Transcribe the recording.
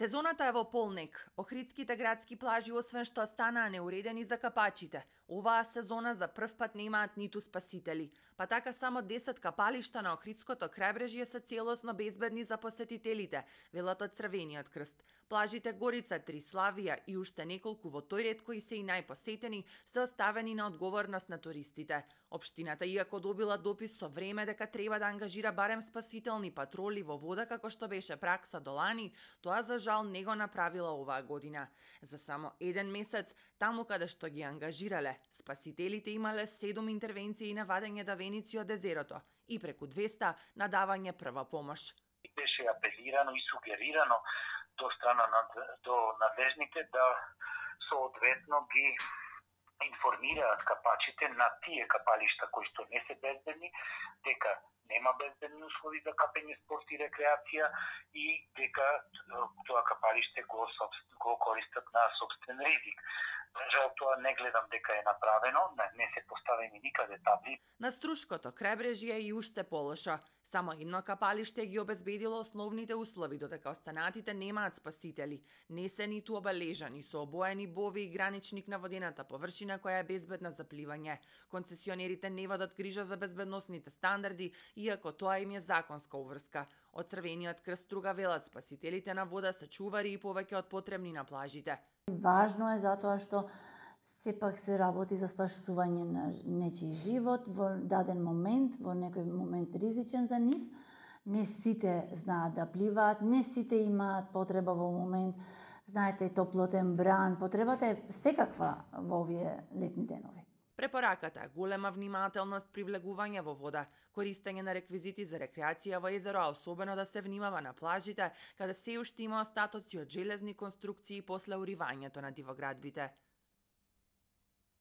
Сезоната е во полнек. Охридските градски плажи освен што станаа неуредени за капачите, оваа сезона за прв пат немаат ниту спасители. Па така само 10 капалишта на Охридското крајбрежје се целосно безбедни за посетителите, велат од Црвениот крст. Плажите Горица, Триславија и уште неколку во тој ред кои се и најпосетени се оставени на одговорност на туристите. Општината, иако добила допис со време дека треба да ангажира барем спасителни патроли во вода како што беше пракса до лани, тоа за жал не го направила оваа година. За само еден месец, таму каде што ги ангажирале, спасителите имале 7 интервенции на вадење давеници од езерото и преку 200 на давање прва помош. Беше апелирано и сугерирано до страна до надлежните да соодветно ги информираат капачите на тие капалишта кои што не се безбедни, дека нема безбедни услови за капење, спорт и рекреација и дека тоа капалиште го користат на собствен ризик. Жал тоа не гледам дека е направено, не се поставени никаде табли. На Струшкото крајбрежје е и уште полошо. Само едно капалиште ги обезбедило основните услови, додека останатите немаат спасители. Не се ниту обележани со обоени бови и граничник на водената површина која е безбедна за пливање. Концесионерите не водат грижа за безбедносните стандарди, иако тоа им е законска обврска. Од Црвениот крст друга велат, спасителите на вода се чувари и повеќе од потребни на плажите. Важно е затоа што сепак се работи за спасување на нечiji живот во даден момент, во некој момент ризичен за нив. Не сите знаат да пливаат, не сите имаат потреба во момент, знаете, топлотен бран, потребата е секаква во овие летни денови. Препораката е голема внимателност при влегување во вода, користење на реквизити за рекреација во езеро, а особено да се внимава на плажите, каде се уште има остатоци од железни конструкции после уривањето на дивоградбите.